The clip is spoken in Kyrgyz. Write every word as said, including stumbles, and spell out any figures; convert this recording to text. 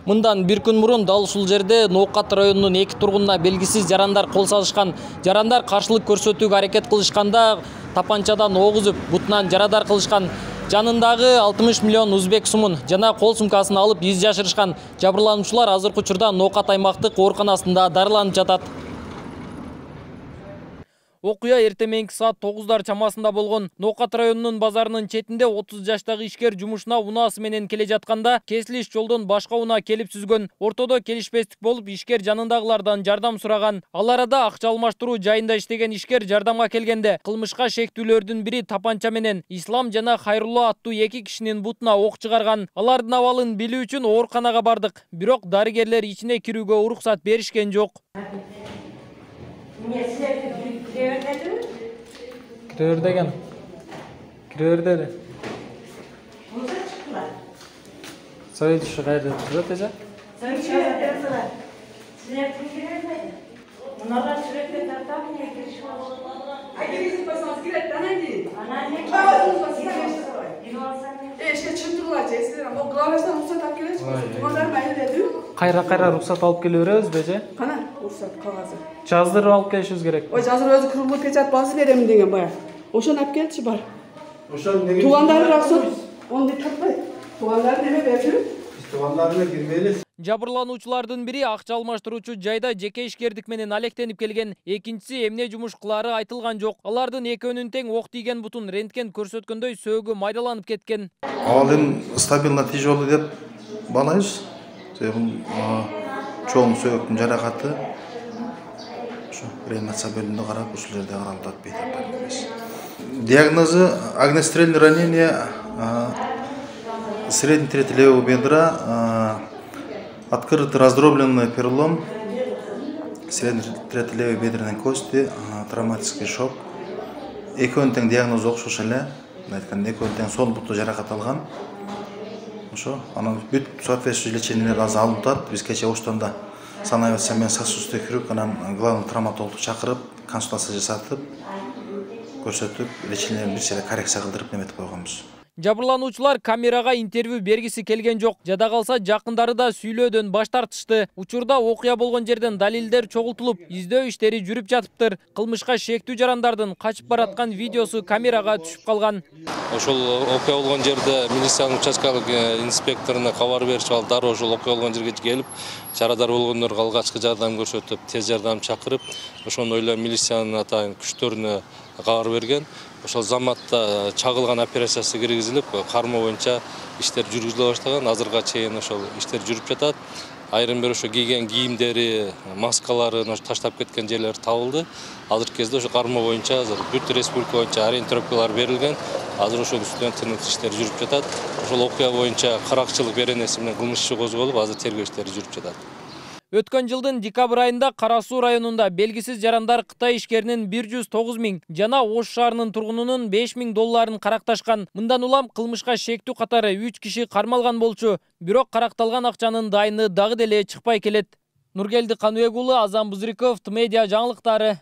Мындан бир күн мурун дал ушул жерде Ноокат районунун эки тургунуна белгисиз жарандар кол салышкан. Жарандар каршылык көрсөтүүгө аракет кылышканда тапанчадан ок үзүп, бутунан жарадар кылышкан. Жанындагы алтымыш миллион узбек сумун жана кол сумкасын алып из жашырышкан. Жабырлануучулар азыркы учурда Ноокат аймактык ооруканасында дарыланып жатат. Окуя эртең менки саат тогуздар чамасында болгон. Ноокат районунун базарынын четинде отуз жаштагы ишкер жумушуна унаасы менен келе жатканда кесилиш жолдон башка унаа келип сүзгөн. Ортодо келишпестик болуп, ишкер жанындагылардан жардам сураган. Ал арада акча алмаштыруу жайында иштеген ишкер жардамга келгенде кылмышка шектүүлөрдүн бири тапанча менен Ислам жана Хайрулла аттуу эки кишинин бутуна ок чыгарган. Алардын абалын билүү үчүн ооруканага бардык. Бирок дарыгерлер ичине кирүүгө уруксат беришкен жок. Кирер деген. Кирер dedi. Söyle şu gayrı tutacak ece. Sen şöyle derseler. Sürekli girer mi? Bunlar sürekli tartam niye giriş var? Ay bizim basımız girer tanıydı. Anneanne. Babamız basımız girer. E şey çıktılar cesur ama o glavasdan ruhsat alıp gelir. Bunlar ben dedi. Kayra kayra ruhsat alıp geliyoruz bece. Kana ruhsat kağızı. Жаздырып алып келишибиз керек. Ой, жаздыр өзү курулуп печат басып беремин деген бая. Ошону алып келчи бар. Ошо неге? Туугандары рахсат. Onu таппай. Туугандары неме берди? Туугандарына кирбейли. Жабырлануучулардын бири акча алмаштыруучу жайда жеке ишкердик менен алектенип келген. Экинчиси эмне жумуш кылары айтылган жок. Алардын экөөнүн тең ок тийген бутун рентген көрсөткөндөй сөөгү майдаланып кеткен. Ал эми стабилно тяжелый деп баалайбыз. Чоң сөөгүн жаракаты. Реанимация бөлімінде қарап, ушул жерде қаралып атпайт. Диагнозы огнестрельное ранение средней трети левого бедра, открытый раздробленный перелом средней трети левой бедренной кости, травматический шок. Экөөнүн тең диагнозу окшош эле. Айтканда экөөнүн тең сол буту жаракат алган. Ошо, анан бүт соответствующий лечениелер азыр алынып атат. Биз кече оштонда санаевый семен сосудистый хирург, анан главный травматологду чакырып, консультация жасатып, көрсөтүп, лечениелерин бир сыйра коррекция кылдырып неметип койгонбуз. Жабырлануучулар камерага интервью бергиси келген жок. Жада калса жакындары да сүйлөөдөн баш тартышты. Учурда окуя болгон жерден далилдер чогултулуп, издөө иштери жүрүп жатыптыр. Кылмышка шектүү жарандардын качып бараткан видеосу камерага түшүп калган. Ошол окуя болгон жерде милициянын участкалык инспекторуна кабар беришип алып, дароо ошол окуя болгон жерге келип, жарадар болгондорго алгачкы жардам көрсөтүп, тез жардам чакырып, ошону эле милициянын атайын күчтөрүнө кабар берген. Ошол заматта чагылган операциясы киргизилип, карма боюнча иштер жүргүзүлө баштаган. Азырга чейин ошол иштер жүрүп жатат. Айрым бир ошо кийген кийимдери, маскаларын таштап кеткен жерлер табылды. Азыркы кезде ошо карма боюнча азыр бүт республика боюнча ориентировкалар берилген. Азыр ошол үстүнөн тынып иштер жүрүп жатат. Ошол окуя боюнча каракчылык беренеси менен кылмыш иши козголуп, азыр тергөө иштери жүрүп жатат. Өткөн жылдын декабрь айында Кара Суу районунда белгисиз жарандар Кытай ишкеринин бир жүз тогуз миң жана Ош шаарынын тургунунун беш миң долларын каракташкан. Мындан улам кылмышка шектүү катары үч киши кармалган болчу. Бирок каракталган акчанын дайыны дагы деле чыкпай келет. Нургелди Каныбек уулу, Азам Бузриков, Т Медиа жаңылыктары.